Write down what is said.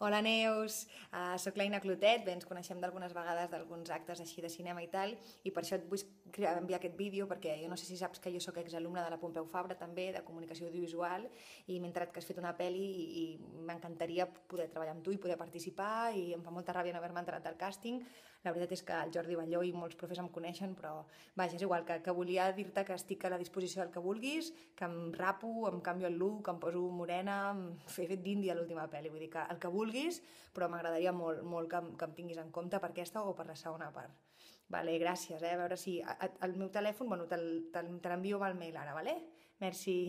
Hola Neus, soc l'Aina Clotet, bé, ens coneixem d'algunes vegades d'alguns actes així de cinema i tal, i per això et vull enviar aquest vídeo, perquè jo no sé si saps que jo sóc exalumna de la Pompeu Fabra també, de comunicació audiovisual, i m'he enterat que has fet una pel·li i m'encantaria poder treballar amb tu i poder participar, i em fa molta ràbia no haver-me enterat del càsting. La veritat és que el Jordi Balló i molts profes em coneixen, però vaja, és igual, que volia dir-te que estic a la disposició del que vulguis, que em rapo, em canvio el look, em poso morena, he fet d'índia a l'última pel·li, vull dir que el que vulguis, però m'agradaria molt, molt que em tinguis en compte per aquesta o per la segona part. Vale, gràcies, a veure si... El meu telèfon, bueno, te l'envio amb el mail ara, vale? Merci.